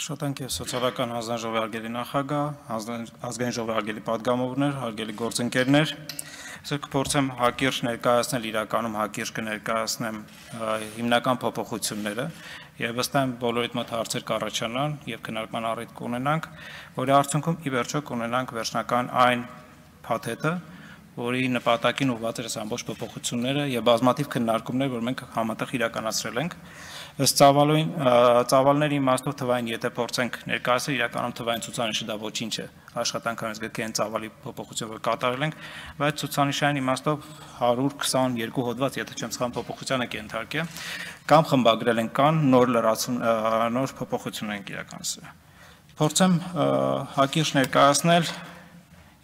Աշխատանքի և սոցիալական ազգային ժողովի հարգելի նախագահ, ազգային ժողովի հարգելի պատգամավորներ, հարգելի գործընկերներ, այսօր կփորձեմ հակիրճ ներկայացնել, իրականում հակիրճ կներկայացնեմ հիմնական փոփոխությունները եւ վստահ եմ բոլորիդ մոտ հարցեր կառաջանան եւ քննարկման առիթ կունենանք, որի արդյունքում ի վերջո կունենանք վերջնական այն փաթեթը, որի նպատակին ուղղված էր ամբողջ փոփոխությունները եւ բազմաթիվ քննարկումներ, որ մենք համատեղ իրականացրել ենք։ Ըստ ծավալների իմաստով թվային, եթե փորձենք ներկայացնել, իրականում թվային ցուցանիշը դա ոչինչ է, աշխատանքային գրքի այն ծավալի փոփոխություն, որ կատարել ենք, բայց ցուցանիշային իմաստով 122 հոդված, եթե չեմ սխալվում, փոփոխության եք ենթարկել, կամ խմբագրել ենք կան նոր փոփոխություն ենք իրականացրել։ Փորձեմ հակիրճ ներկայացնել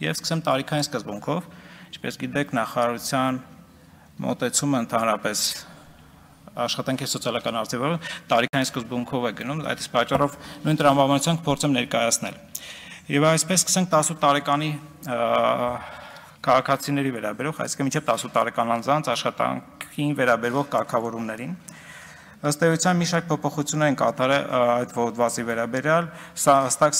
եւ սկսեմ տարիքային սկզբունքով, ինչպես գիտեք, նախարարության մոտեցումը ընդհանրապես աշխատանքի սոցիալական արտադրություն տարիքային սկզբունքով է գնում, այդ իսկ պատճառով նույն տրամաբանությամբ փորձեմ ներկայացնել։ Եվ այսպես սկսենք 18 տարեկանի քաղաքացիների վերաբերող, այսինքն մինչև 18 տարեկան անձանց աշխատանքին վերաբերող կարգավորումներին։ Ըստ էության մի շարք փոփոխություններ են կատարել այդ հոդվածի վերաբերյալ, հստակ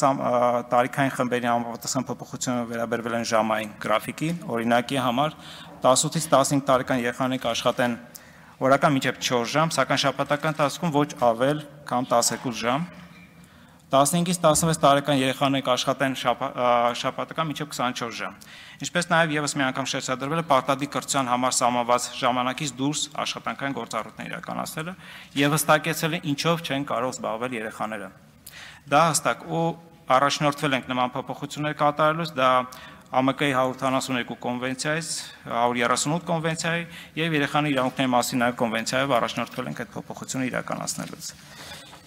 տարիքային խմբերի համապատասխան փոփոխությունները վերաբերվել են ժամային գրաֆիկի, օրինակի համար 18-ից 15 տարեկան երեխաներ կաշխատեն օրական մինչև 4 ժամ, սակայն շաբաթական ընթացքում ոչ ավել կամ 12 ժամ, 15-ից 16 տարեկան երեխաներ կաշխատեն շաբաթական մինչև 24 ժամ։ Ինչպես նաև եւս մի անգամ շեշտադրվել է պարտադիր կրթության համար սահմանված ժամանակից դուրս աշխատանքային գործառույթներ իրականացնելը եւ հստակեցել է ինչով չեն կարող զբաղվել երեխաները։ Դա հստակ ու առաջնորդվել ենք նման փոփոխություններ կատարելուց, դա ԱՄԿ-ի 172 կոնվենցիայից, 138 կոնվենցիայի եւ երեխաների իրավունքների մասին նաեւ կոնվենցիայով առաջնորդվել ենք այդ փոփոխությունը իրականացնելուց։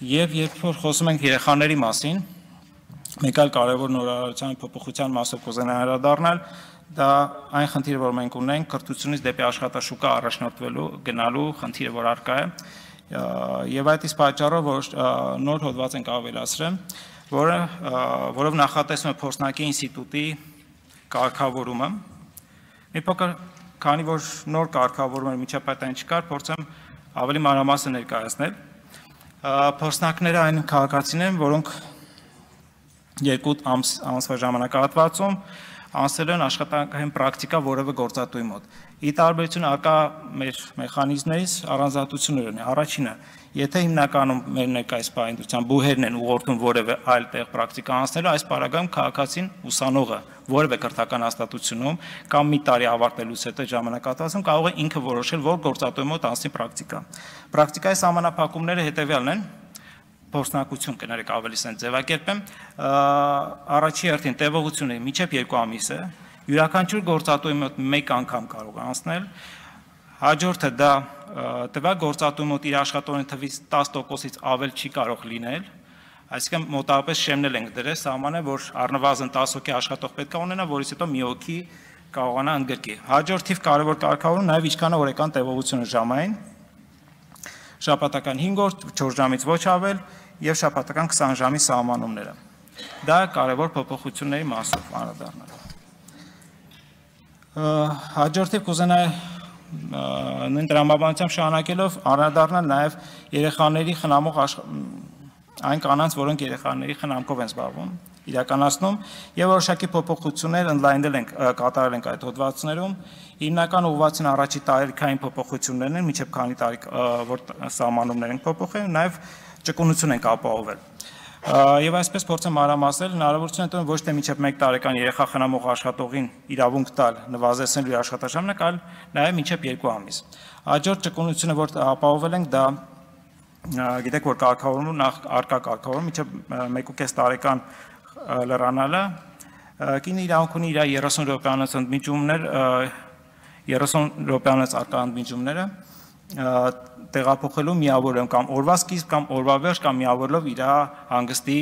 Եվ երբ որ խոսում ենք երեխաների մասին, մեկ այլ կարևոր նորարարության փոփոխության մասով կուզենայի անդրադառնալ, դա այն խնդիրը, որ մենք ունենք, կրթությունից դեպի աշխատաշուկա առաջնորդվելու գնալու խնդիրը, որ առկա է, եւ այդ իսկ պատճառով, որ նոր հոդված ենք ավելացրել, որով նախատեսվում է փորձնակի ինստիտուտի կարգավորումը։ Մի փոքր, քանի որ նոր կարգավորումներ միջապայտային չկար, փորձեմ ավելի մանրամասն ներկայացնել։ Փորձնակները այն քաղաքացիներ են, որոնք 2 ամսվա ժամանակահատվածում անցել են աշխատանքային պրակտիկա որևէ գործատուի մոտ։ Ի տարբերություն արկա մեր մեխանիզմներից առանձնահատկություններ ունի։ Առաջինը, եթե հիմնականում մեր ներկայիս պայմանությամբ բուհերն են ուղղորդում որևէ այլ տեղ պրակտիկա անցնելու, այս պարագայում քաղաքացին ուսանողը որևէ կրթական հաստատությունում կամ մի տարի ավարտելուց հետո ժամանակահատվածում կարող է ինքը որոշել, որ գործատուի մոտ անցնի պրակտիկա։ Պրակտիկայի սահմանափակումները հետևյալն են, փորձնակություն կներեք ավելի սենց ձևակերպեմ, առաջի հերթին տևողությունը մինչև 2 ամիս է, յուրաքանչյուր գործատուի մոտ 1 անգամ կարող է անցնել, հաջորդը դա տվյալ գործատուի մոտ իր աշխատողների թվից 10%-ից ավել չի կարող լինել, այսինքն մոտավորապես շեմնել ենք դրել սահմանը, որ առնվազն 10 հոգի աշխատող պետք է ունենա, որից հետո մի հոգի կարողանա ընդգրկի։ Հաջորդ թիվ կարևոր կարգավորում նաև ինչքան է օրական տևողությունը ժամային, շաբաթական 5 օր, 4 ժամից ոչ ավել եւ շաբաթական 20 ժամի սահմանումները։ Դա կարևոր փոփոխությունների մասով անդրադառնալ։ Հաջորդը կուզենայի նույն տրամաբանությամբ շարունակելով անդրադառնալ նաեւ երեխաների խնամող այն կանանց, որոնք երեխաների խնամքով են զբաղվում, իրականացնում եւ որոշակի փոփոխություններ ընդլայնել ենք կատարել ենք այդ հոդվածներում, հիմնական ուղղվածին առաջի տարիքային փոփոխություններն են, մինչեւ քանի տարի որ սահմանումներ են փոփոխել, նաեւ ճկունություն ենք ապահովել։ Եվ այսպես փորձեմ մանրամասնել, հնարավորություն է տվել ոչ թե մինչև 1 տարեկան երեխա խնամող աշխատողին իրավունք տալ նվազեցնելու իր աշխատաժամանակը, այլ նաեւ մինչև 2 ամիս։ Հաջորդ ճկունությունը, որ ապահովել ենք, դա գիտեք, որ կարգավորումը նախ արկա կարգավորում մինչև 1.5 տարեկան լրանալը, կինը իրավունք ունի իր 30 րոպեանոց ընդմիջումներ, 30 րոպեանոց արկա ընդմիջումները տեղափոխելու միավորում կամ օրվա սկիզբ կամ օրվա վերջ կամ միավորելով իր հանգստի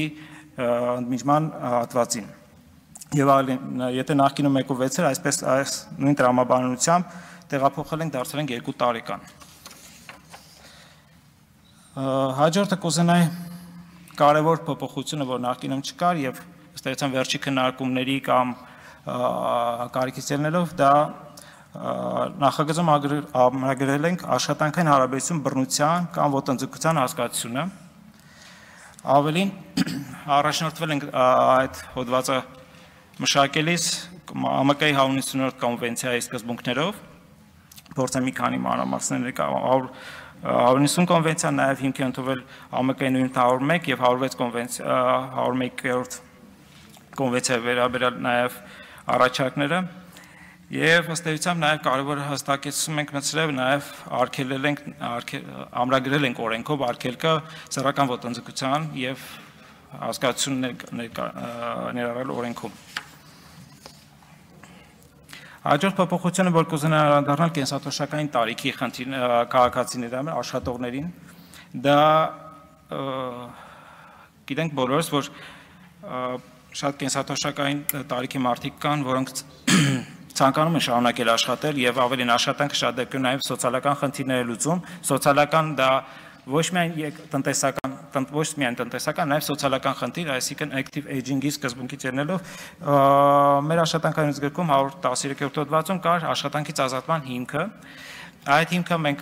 ընդմիջման հատվածին։ Եվ եթե նախկինում 1.6 էր, այսպես այս նույն տրամաբանությամբ տեղափոխել ենք դարձրել ենք 2 տարեկան։ Հաջորդը կուզենայի կարևոր փոփոխությունը, որ նախկինում չկար եւ ըստ էության վերջի քննարկումների կամ կարիքից ելնելով, դա նախագծում ամրագրել ենք աշխատանքային հարաբերություն բռնության կամ ոտնձգության հասկացությունը, Ավելին առաջնորդվել ենք այդ հոդվածը մշակելիս ԱՄԿ-ի 190-րդ կոնվենցիայի սկզբունքներով, փորձեմ մի քանի մանրամասներ 190 կոնվենցիան նաև հիմք է ընդունվել ԱՄԿ-ի նույն 101 եւ 101-րդ կոնվենցիայի վերաբերյալ նաև առաջարկները եւ ըստ էության նաև կարևոր հստակեցում ենք մտցրել նաև արգելել ենք ամրագրել ենք օրենքով արգելքը սեռական ոտնձգության եւ հասկացություն ներառել օրենքում։ Հաջորդ փոփոխությունը, որ կուզենա անդառնալ կենսաթոշակային տարիքի քաղաքացիների աշխատողներին, դա գիտենք բոլորս, որ շատ կենսաթոշակային տարիքի մարդիկ կան, որոնք ցանկանում են շարունակել աշխատել եւ ավելին աշխատանքը շատ դեպքերում նաեւ սոցիալական խնդիրներ է լուծում, սոցիալական դա ոչ միայն տնտեսական, նաեւ սոցիալական խնդիր, այսինքն active aging-ի սկզբունքից ելնելով մեր աշխատանքային գրքում 113-րդ հոդվածում կար աշխատանքից ազատման հիմքը, այդ հիմքը մենք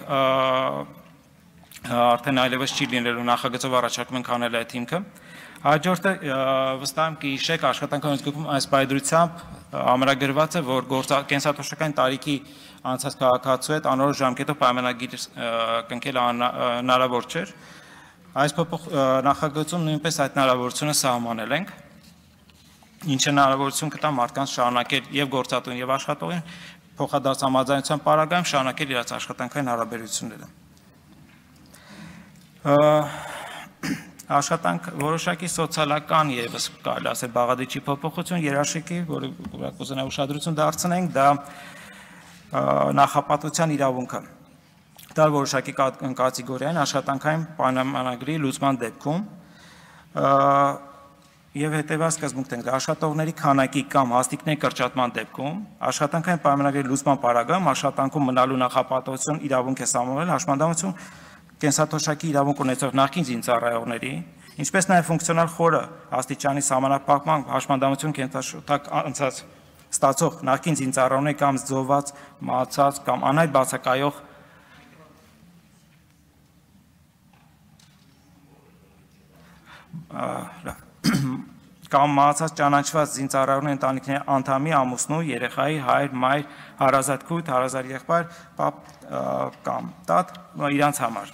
արդեն այլևս չի լինելու նախագծով առաջարկում ենք անել այդ հիմքը։ Հաջորդը վստահ եմ կհիշեք աշխատանքային գրքում այս պայծրությամբ ամրագրված է, որ կենսաթոշակային տարիքի անցած քաղաքացու հետ անորոշ ժամկետով պայմանագիր կնքելը հնարավոր չէր։ Այս նախագծում նույնպես այդ հնարավորությունը սահմանել ենք, ինչը հնարավորություն կտա մարդկանց շարունակել եւ գործատուն եւ աշխատողին փոխադարձ համաձայնության պարագայում շարունակել իրաց աշխատանքային հարաբերությունները։ Աշխատանք որոշակի սոցիալական եւս կարելի ասել բաղադրիչի փոփոխություն երաշխիքի, որը կուզենա ուշադրություն դարձնենք, դա նախապատվության իրավունքը։ Դա որոշակի կատեգորիային աշխատանքային պայմանագրի լուծման դեպքում եւ հետեւած սկզբունքն է աշխատողների քանակի կամ հաստիկների կրճատման դեպքում աշխատանքային պայմանագրի լուծման պարագայում աշխատանքում մնալու նախապատվություն իրավունք է սահմանվել հաշմանդամություն կենսաթոշակի իրավունք ունեցող նախկին զինծառայողների, ինչպես նաև ֆունկցիոնալ խորը աստիճանի սահմանափակման հաշմանդամություն կենսաթոշակ անցած ստացող նախկին զինծառայողների կամ զոհված, մահացած կամ անհայտ բացակայող կամ մահացած ճանաչված զինծառայողների ընտանիքների անդամի, ամուսնու, երեխայի, հայր, մայր, հարազատ քույր, հարազատ եղբայր, պապ կամ տատ իրանց համար։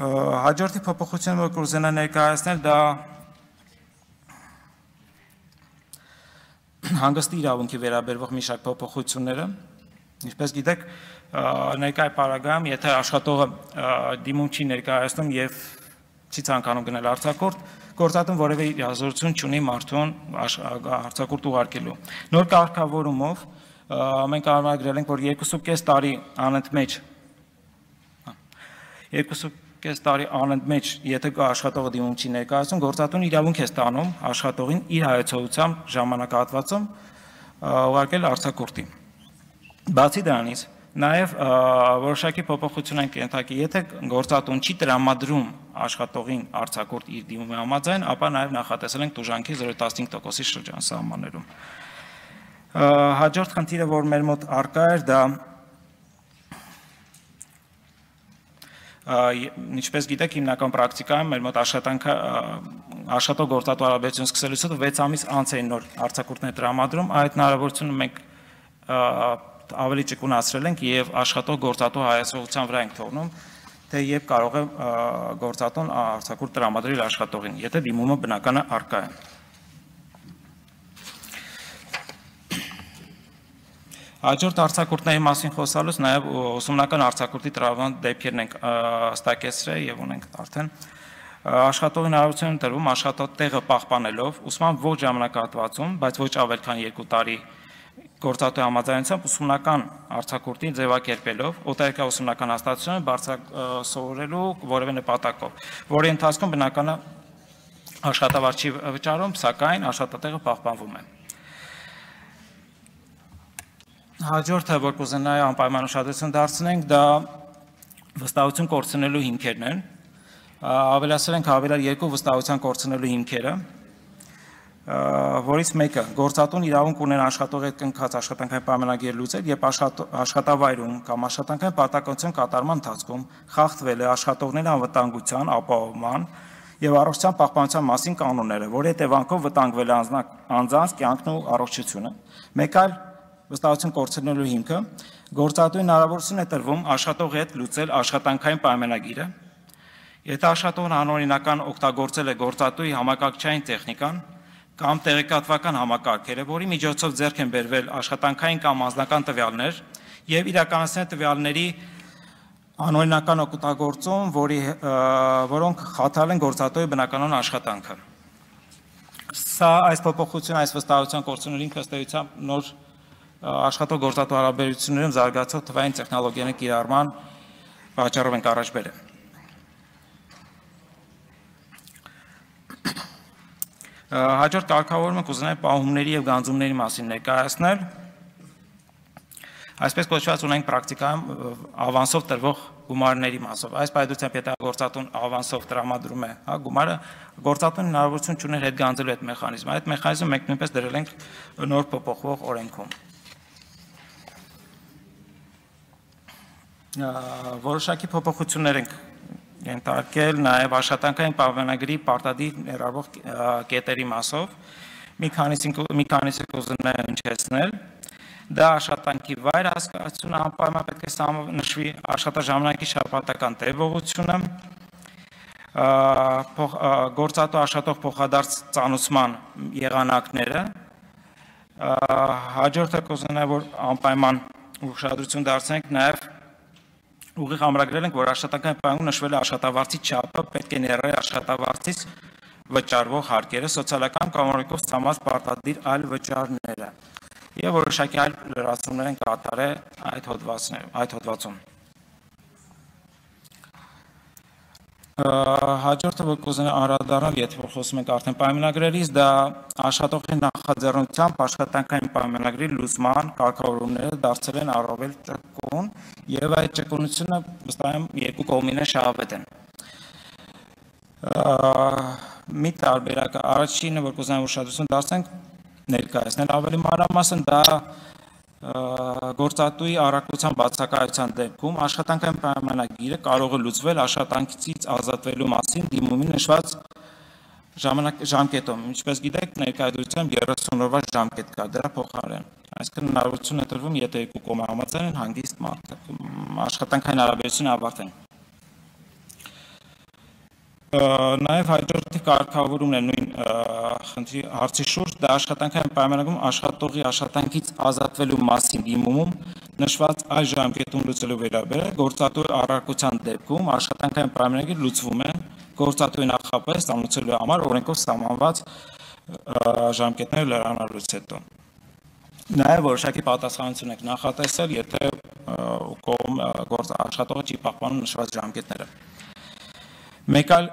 Հաջորդի փոփոխությունը, որ կուզենա ներկայացնել, դա հանգստի իրավունքի վերաբերող մի շարք փոփոխությունները, ինչպես գիտեք, ներկայ պարագայում, եթե աշխատողը դիմում չի ներկայացնում եւ չի ցանկանում գնել արձակուրդ, գործատուն որևէ հազորություն չունի մարդուն արձակուրդ ուղարկելու։ Նոր կարգավորումով մենք ամրագրել ենք, որ 2.5 տարի անընդմեջ 2.5 տարի անընդմեջ, եթե աշխատողը դիմում չի ներկայացում, գործատուն իրավունք է ստանում աշխատողին իր հայեցողությամբ ժամանակահատվածում ուղարկել արձակուրդի։ Բացի դրանից, նաև որոշակի փոփոխություն են կենթակի, եթե գործատուն չի տրամադրում աշխատողին արձակուրդ իր դիմումի համաձայն, ապա նաև նախատեսել ենք տուժանքի 0.15%-ի շրջան սահմաններում։ Հաջորդ խնդիրը, որ մեր մոտ առկա էր, դա ինչպես գիտեք, հիմնական պրակտիկայում մեր մոտ աշխատող գործատու հարաբերություն սկսելուց հետո 6 ամիս անց էին նոր արձակուրդներ տրամադրում, այդ հնարավորությունը մենք ավելի ճկունացրել ենք եւ աշխատող գործատու հայացողության վրա ենք թողնում, թե երբ կարող է գործատուն արձակուրդ տրամադրել աշխատողին, եթե դիմումը բնականը առկա է։ Հաջորդ արձակուրդների մասին խոսալուց նաև ուսումնական արձակուրդի տրամադրման դեպքերն ենք հստակեցրել եւ ունենք արդեն աշխատողին հնարավորություն տրվում աշխատատեղը պահպանելով ուսման ոչ ժամանակահատվածում, բայց ոչ ավել քան 2 տարի գործատու համաձայնությամբ ուսումնական արձակուրդի ձևակերպելով օտարերկրյա ուսումնական հաստատությունը սովորելու որևէ նպատակով, որի ընթացքում բնականը աշխատավարձ չի վճարում, սակայն աշխատատեղը պահպանվում է։ Հաջորդը, որ կուզենայի անպայման ուշադրություն դարձնենք, դա վստահություն կորցնելու հիմքերն են։ Ավելացրել ենք հավելյալ 2 վստահության կորցնելու հիմքերը։ Նախ, որոշակի կենսաթոշակային տարիքի քաղաքացիների, որոնք կենսաթոշակային տարիքի անցած քաղաքացու հետ անորոշ ժամկետով պայմանագիր կնքել են, աշխատանքից ազատման հիմքը, որից մեկը գործատուն իրավունք ունեն աշխատողի հետ կնքած աշխատանքային պայմանագիր լուծել, երբ աշխատավայրում կամ աշխատանքային պարտականության կատարման ընթացքում խախտվել է աշխատողների անվտանգության, ապահովման եւ առողջության պահպանության մասին կանոնները, որի հետևանքով վտանգվել է անձանց կյանքն ու առողջությունը։ Մեկ այլ վստահություն կորցնելու հիմքը գործատուի հնարավորություն է տրվում աշխատողի հետ լուծել աշխատանքային պայմանագիրը, եթե աշխատողն անօրինական օգտագործել է գործատուի համակարգչային տեխնիկան կամ տեղեկատվական համակարգերը, որի միջոցով ձեռք են բերվել աշխատանքային կամ անձնական տվյալներ եւ իրականացնել տվյալների անօրինական օգտագործում, որոնք խաթարել են գործատուի բնականon աշխատանքը։ Սա այս փոփոխությունը, այս վստահության կորցնելու ինքը ըստ էության նոր աշխատող-գործատու հարաբերություններում զարգացող թվային տեխնոլոգիաների կիրառման պատճառով ենք առաջ բերել։ Հաջորդ կարգավորումը կուզենայի պահումների եւ գանձումների մասին ներկայացնել։ Այսպես կոչված ունենք պրակտիկայում ավանսով տրվող գումարների մասով։ Այս պայմանությամբ եթե գործատուն ավանսով տրամադրում է գումարը, գործատուն հնարավորություն չուներ հետ գանձելու այդ մեխանիզմը։ Այդ մեխանիզմը մենք նույնպես դրել ենք նոր փոփոխվող օրենքում։ Որոշակի փոփոխություններ ենք ենթարկել նաև աշխատանքային պայմանագրի պարտադիր ներառվող կետերի մասով, մի քանիսը կուզենայի հնչեցնել, դա աշխատանքի վայր հասկացությունը անպայման պետք է նշվի, աշխատաժամանակի շաբաթական տևողությունը, գործատու աշխատող փոխադարձ ծանուցման եղանակները, հաջորդը կուզենայի, որ անպայման ուշադրություն դարձնենք նաև ուղիղ ամրագրել ենք, որ աշխատանքային պայմաններում նշվել է աշխատավարձի չափը պետք է ներառի աշխատավարձից վճարվող հարկերը, սոցիալական կամավորակով ստամած պարտադիր այլ վճարները եւ որոշակի այլ լրացումներ են կատարել այդ հոդվածում։ Հաջորդը որ կուզենա անդրադառնալ, եթե խոսում ենք արդեն պայմանագրերից, դա աշխատողի նախաձեռնությամբ աշխատանքային պայմանագրի լուծման կարգավորումները դարձել են առավել ճկուն եւ այդ ճկունությունը վստահ եմ երկու կողմին շահավետ են։ Մի տարբերակ առաջինը որ կուզենամ ուշադրություն դարձնենք ներկայացնել ավելի մանրամասն դա գործատուի առաքելության բացակայության դեպքում աշխատանքային պայմանագիրը կարող է լուծվել աշխատանքից ազատվելու մասին դիմումի նշված ժամկետում։ Ինչպես գիտեք, ներկայությամբ 30 օրվա ժամկետ կա դրա փոխարեն։ Այսինքն հնարավորություն է տրվում, եթե երկու կողմը համաձայն են, հանգիստ աշխատանքային հարաբերությունը ավարտեն։ Նաև հաջորդի կարգավորումն է նույն խնդրի հարցի շուրջ, դա աշխատանքային պայմանագրում աշխատողի աշխատանքից ազատվելու մասին դիմումում նշված այս ժամկետում լուծելու վերաբերյալ գործատուի առարկության դեպքում աշխատանքային պայմանագիր լուծվում է գործատուի նախապես ստանուցելու համար օրենքով սահմանված ժամկետները լրանալուց հետո։ Նաև որոշակի պատասխանատվություն եք նախատեսել, եթե աշխատողը չի պահպանում նշված ժամկետները։ Մեկ այլ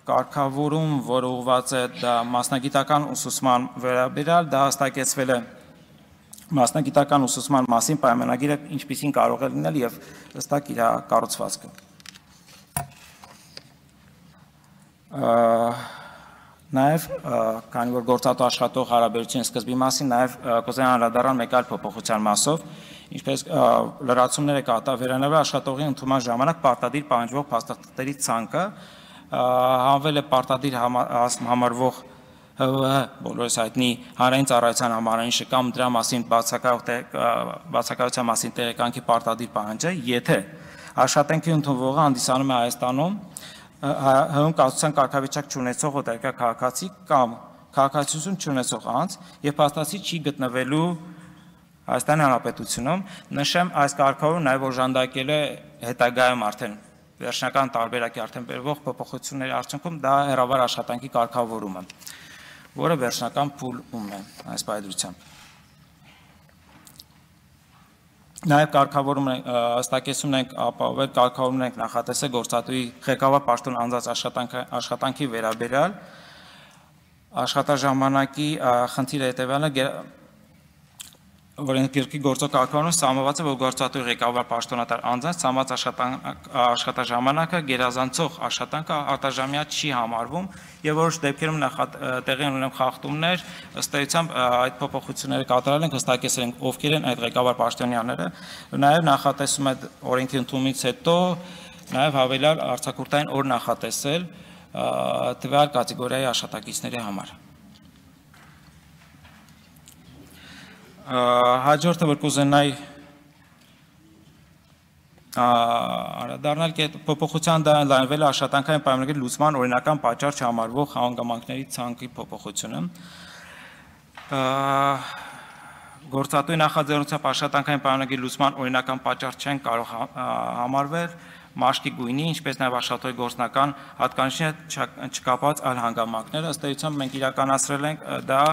կարգավորում, որ ուղղված է դա մասնագիտական ուսուցման վերաբերյալ, դա հստակեցվել է մասնագիտական ուսուցման մասին պայմանագիրը ինչպիսին կարող է լինել եւ հստակ իր կառուցվածքը։ Նաև քանի որ գործատու աշխատող հարաբերության սկզբի մասին նաև կուզենամ անդրադառնալ մեկ այլ փոփոխության մասով, ինչպես լրացումները կատարվելանալ աշխատողի ընդունման ժամանակ պարտադիր պահանջվող փաստաթղթերի ցանկը հանվել է պարտադիր համարվող բոլորս հայտնի հանրային ծառայության համարանիշը կամ դրա մասին բացակայության մասին տեղեկանքի պարտադիր պահանջը, եթե աշխատանքի ընդունվողը հանդիսանում է Հայաստանում հում կացության կարգավիճակ չունեցող օտարերկրյա քաղաքացի կամ քաղաքացիություն չունեցող անձ եւ փաստացի չի գտնվելու Հայաստանի Հանրապետությունում, նշեմ այս կարգավորումը նաև օժանդակել է հետագայում արդեն վերջնական տարբերակի արդեն բերվող փոփոխությունների արդյունքում դա հեռավար աշխատանքի կարգավորումը, որը վերջնական փուլում է այս պայմանությամբ։ Նաև կարգավորումն հստակեցումն ենք ապահովել, կարգավորումն ենք նախատեսել գործատուի ղեկավար պաշտոն անձած աշխատանքի վերաբերյալ աշխատաժամանակի խնդիրը հետևյալն է օրենսգիրքի գործող կարգավորումը սահմանված է, որ գործատուի ղեկավար պաշտոնատար անձանց ցամաց աշխատաժամանակը գերազանցող աշխատանքը արտաժամյա չի համարվում եւ որոշ դեպքերում տեղի ունեն խախտումներ, ըստ էության այդ փոփոխությունները կատարել ենք, հստակեցրել ենք ովքեր են այդ ղեկավար պաշտոնյաները, նաեւ նախատեսում է օրենքի ընդունումից հետո նաեւ հավելյալ արձակուրդային օր նախատեսել տվյալ կատեգորիայի աշխատակիցների համար։ Հաջորդը որ կուզենայի անդրադառնալ փոփոխության լայնվել աշխատանքային պայմանագրի լուծման օրինական պատճառ չհամարվող հանգամանքների ցանկի փոփոխությունը գործատուի նախաձեռնությամբ աշխատանքային պայմանագրի լուծման օրինական պատճառ չեն կարող համարվել մաշկի գույնի, ինչպես նաև աշխատողի գործնական հատկանիշի չկապված այլ հանգամանքներ, ըստ էության մենք իրականացրել ենք դա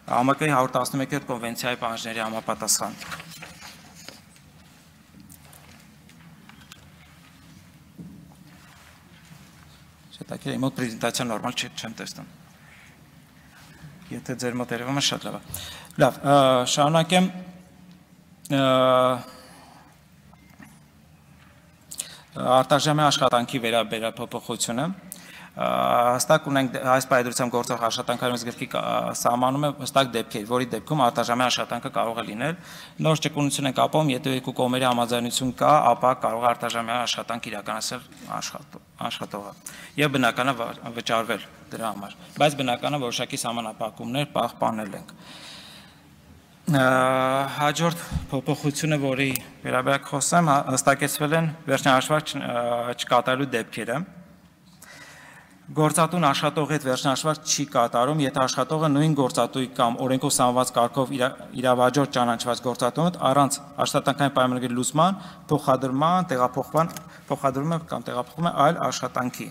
ԱՄԿ-ի 111-րդ կոնվենցիայի պահանջների համապատասխան։ Շետակել իմ մոտ պրեզենտացիա նորմալ չեմ տեսնում։ Եթե ձեր մոտ երևում է շատ լավ է։ Լավ, շարունակեմ արտաժամյա աշխատանքի վերաբերյալ փոփոխությունը։ Հստակ ունենք այս պայմանությամբ գործող աշխատանքային գրքի սահմանում է հստակ դեպքեր, որի դեպքում արտաժամյա աշխատանքը կարող է լինել։ Նոր ճկունություն ենք ապահովում, եթե երկու կողմերի համաձայնություն կա, ապա կարող է արտաժամյա աշխատանք իրականացնել աշխատողը եւ բնական է վճարվել դրա համար, բայց բնական է որոշակի սահմանափակումներ պահպանել ենք։ Հաջորդ փոփոխությունը, որի վերաբերյալ խոսեմ, հստակեցվել են վերջնահաշվարկ չկատարելու դեպքերը։ Գործատուն աշխատողի հետ վերջնահաշվարկ չի կատարում, եթե աշխատողը նույն գործատուի կամ օրենքով սահմանված կարգով իրավաճառ ճանաչված գործատու հետ առանց աշխատանքային պայմանագրի լուծման փոխադրման, տեղափոխվում է այլ աշխատանքի։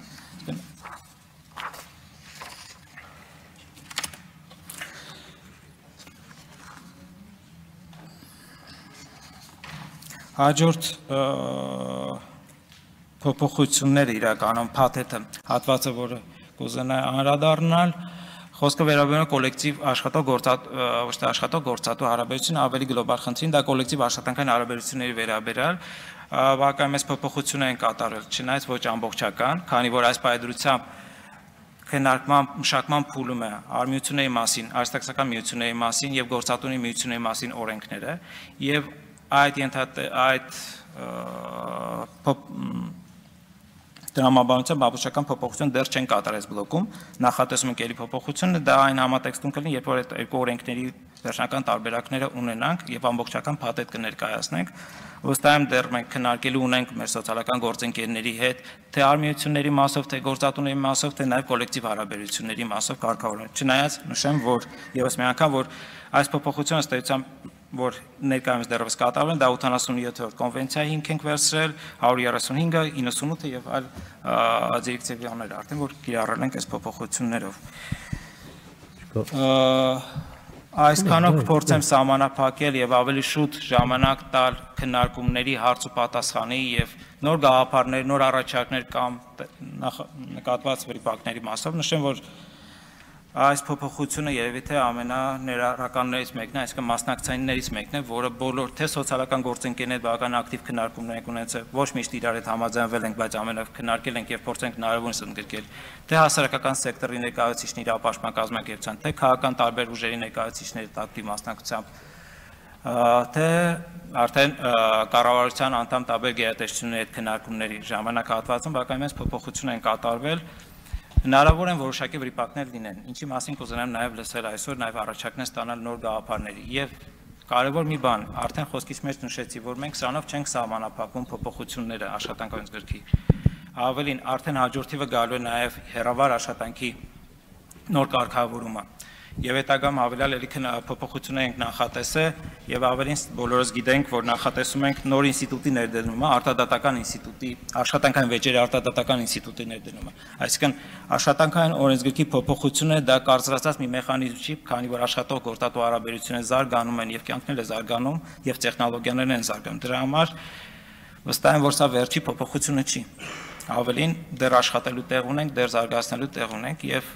Հաջորդ փոփոխությունները իրականում փաթեթը հատվածը, որը կուզենայի անդրադառնալ, խոսքը վերաբերում է կոլեկտիվ աշխատող գործատու հարաբերություն ավելի գլոբալ խնդրին, դա կոլեկտիվ աշխատանքային հարաբերությունների վերաբերյալ բավականին փոփոխություն են կատարել, չնայած ոչ ամբողջական, քանի որ այս պայմանությամբ քննարկման մշակման փուլում է արմիությունների մասին, արհեստական միությունների մասին եւ գործատունի միությունների մասին օրենքները եւ այդ դրամաբանության բավականին փոփոխություն դեռ չեն կատարել բլոկում, նախատեսում ենք ելի փոփոխությունը, դա այն համատեքստում կլինի, երբ որ այդ երկու օրենքների վերջնական տարբերակները ունենանք եւ ամբողջական փաթեթ կներկայացնենք, վստահ եմ դեռ մենք քննարկելու ունենք մեր սոցիալական գործընկերների հետ, թե արմիությունների մասով, թե գործատուների մասով, թե նաեւ կոլեկտիվ հարաբերությունների մասով կարգավորել։ Չնայած նշեմ, որ եւս մի անգամ, որ այս փոփոխությունը ըստ էության որ ներկայումս դեռևս կատարվել են, դա 87-րդ կոնվենցիայի հիմք ենք վերցրել, 135-ը, 98-ը եւ այլ դիրեկտիվաներ արդեն, որ կիրառել ենք այս փոփոխություններով։ Այսքանով կփորձեմ սահմանափակել եւ ավելի շուտ ժամանակ տալ քննարկումների, հարց ու պատասխանի եւ նոր գաղափարներ, նոր առաջարկներ կամ նկատված վիճակների մասով նշեմ, որ այս փոփոխությունը երևի թե ամենաներառականներից մեկն է, այսինքն մասնակցայիններից մեկն է, որը բոլոր թե սոցիալական գործընկերներ բավական ակտիվ քննարկումներ են ունեցել, ոչ միշտ իրար հետ համաձայնվել ենք, բայց ամենով քննարկել ենք եւ փորձենք հնարավորինս ընդգրկել թե հասարակական սեկտորի ներկայացուցիչների ապաշխման կազմակերպության, թե քաղաքական տարբեր ուժերի ներկայացուցիչների ակտիվ մասնակցությամբ, թե արդեն կառավարության անդամ տարբեր գերատեսչությունների հետ քննարկումների ժամանակահատվածում բավականին մեծ փոփոխություն են կատարվել։ Հնարավոր են որոշակի վիճակներ լինեն, ինչի մասին կուզենամ նաև լսել այսօր, նաև առաջարկներ ստանալ նոր գաղափարների եւ կարևոր մի բան, արդեն խոսքից մեջ նշեցի, որ մենք սրանով չենք սահմանափակում փոփոխությունները աշխատանքային գրքի։ Ավելին, արդեն հաջորդիվը գալու է նաև հեռավար աշխատանքի նոր կարգավորումը։ Եվ հետագայում հավելյալ ելի փոփոխություններ ենք նախատեսել եւ ավելին բոլորս գիտենք, որ նախատեսում ենք նոր ինստիտուտի ներդրումը, արտադատական ինստիտուտի, աշխատանքային վեճերի արտադատական ինստիտուտի ներդրումը։ Այսինքն աշխատանքային օրենսգրքի փոփոխությունը դա կարծրացած մի մեխանիզմ չի, քանի որ աշխատող գործատու հարաբերությունները զարգանում են եւ կյանքն էլ է զարգանում եւ տեխնոլոգիաներն են զարգանում։ Դրա համար վստահ եմ, որ սա վերջի փոփոխությունը չի։ Ավելին դեռ աշխատելու տեղ ունենք, դեռ զարգացնելու տեղ ունենք եւ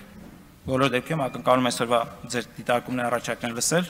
բոլոր դեպքերում ակնկալում եմ այսօրվա ձեր դիտարկումների առաջարկներ լսել,